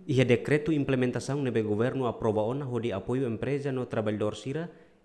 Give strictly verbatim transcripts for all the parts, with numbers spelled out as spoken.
Iha dekretu implementasaun ne'ebé governu aprova ona hodi apoiu empreza no traballadór sira,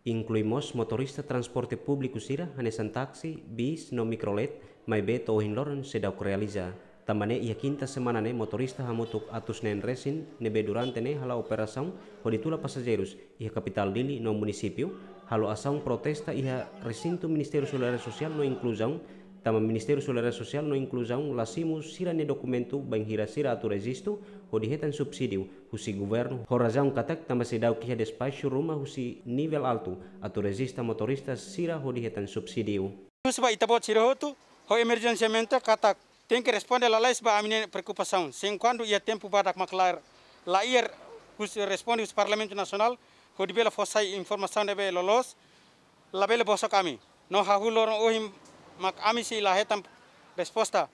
inklui mós motorista transporte públiku sira, hanesan táksi, bis no mikrolet, maibé to'o ohin loron seidauk realiza. Tanba ne'e iha kinta semana ne'e motorista hamutuk atus neen resin ne'ebé durante ne'e hala'o operasaun hodi tula pasajeirus iha kapitál Dili no munisípiu, halo asaun protesta iha resintu Ministériu Solidariedade Sosiál no Inkluzaun, tanba Ministériu Solidariedade Sosiál no Inkluzaun la simu sira-nia dokumentu bainhira sira atu rejistu hodi hetan subsídiu husi governu, ho razaun katak tanba seidauk iha despaxu ruma husi nivel altu atu rejista motorista sira hodi hetan subsídiu. Husu ba ita-boot sira hotu, ho emerjensiamente katak tenke responde lalais ba ami-nia preokupasaun. Se enkuantu iha tempu badak mak la, la iha husi responde husi Parlamentu Nasionál, hodi bele fó sai informasaun ne'ebé loloos, labele bosok ami. No hahú loron ohin mak ami sei la hetan resposta.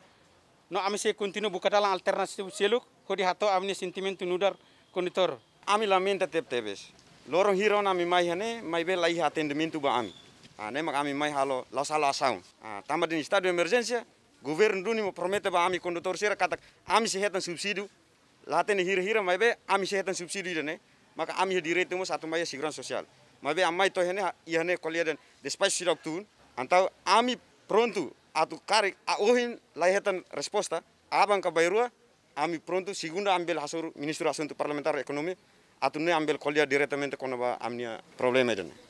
No ami sei kontinua buka dalan alternativu seluk, hodi hato'o ami-nia sentimentu nu'udar kondutór. Ami lamenta tebetebes. Loron hira ona ami mai iha ne'e, maibé la iha atendimentu ba ami. Ah, ne'e mak ami mai halo, la'ós halo asaun. Ah, tanba dehan estadu de emerjénsia, governu duni mós promete ba ami kondutór sira katak ami sei hetan subsídiu, la hatene hira-hira, maibé ami sei hetan subsídiu ida-ne'e, maka ami iha direitu mós atu mai iha seguransa sosiál. Maibé ami mai to'o iha ne'e, iha ne'e ko'alia dehan despaxu seidauk tun, entaun ami prontu atu karik ohin la hetan resposta, aban ka bainrua, ami prontu, segunda ami bele hasoru Ministru Asuntu Parlamentár Ekonomia, atu nune'e ami bele ko'alia diretamente kona-ba ami-nia problema ida-ne'e.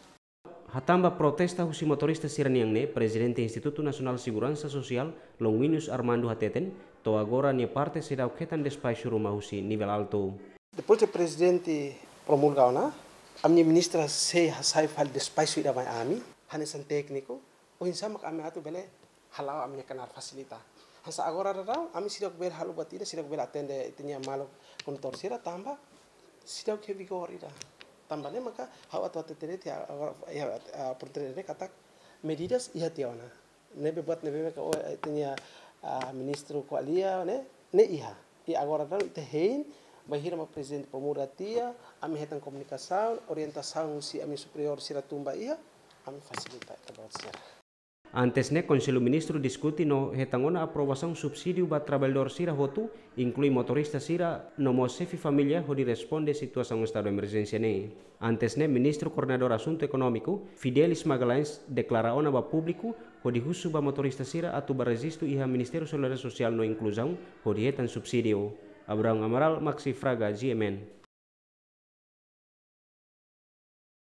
Hatán ba protesta husi motorista sira-nian ne'e, Prezidente Institutu Nasionál Seguransa Sosiál, Longuinhos Armando hateten, to'o agora nia parte seidauk hetan despaxu ruma husi nivel altu. Depois de Prezidente promulga ona, ami-nia ministra sei hasai fali despaxu ida mai ami, hanesan tékniku, oinsá mak ami atu bele hala'o ami-nia knaar fasilita. Hanesan agora daudaun, ami seidauk bele halo buat ida, seidauk bele atende ita-nia maluk kondutór sira tanba seidauk iha vigór ida. Tanba ne'e maka ha'u atu hatete de'it iha agora, iha, ah, portugés ne'e katak medidas iha tiha ona. Ne'ebé buat ne'ebé maka, oh, ita-nia, ah, ministru ko'alia ne'e, ne'e iha. I agora daudaun ita hein, bainhira mak Prezidente promulga tiha, ami hetan komunikasaun, orientasaun husi ami superiór sira tun ba iha, ami fasilita ita-boot sira. Antes ne'e, Konsellu Ministru diskute no hetan ona aprovasaun subsídiu ba traballadór sira hotu, inklui motorista sira, no mós xefe família hodi responde situasaun estadu emerjénsia ne'e. Antes ne'e, Ministru Koordenadór Asuntu Ekonómiku, Fidelis Magalhães, deklara ona ba públiku, hodi husu ba motorista sira atu bá rejistu iha Ministériu Solidariedade Sosiál no Inkluzaun, hodi hetan subsídiu. Abraão Amaral, Maxi Fraga, G M N.